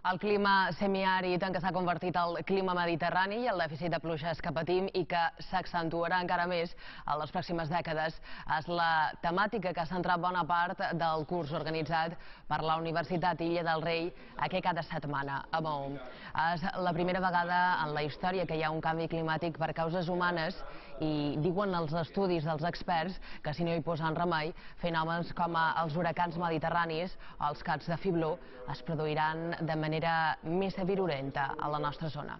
El clima semiàrid en què s'ha convertit el clima mediterrani i el dèficit de pluges que patim i que s'accentuarà encara més en les pròximes dècades és la temàtica que ha centrat bona part del curs organitzat per la Universitat Illa del Rei aquest cada setmana a Maó. És la primera vegada en la història que hi ha un canvi climàtic per causes humanes i diuen els estudis dels experts que si no hi posen remei, fenòmens com els huracans mediterranis o els caps de fibló es produiran de manera més virulenta a la nostra zona.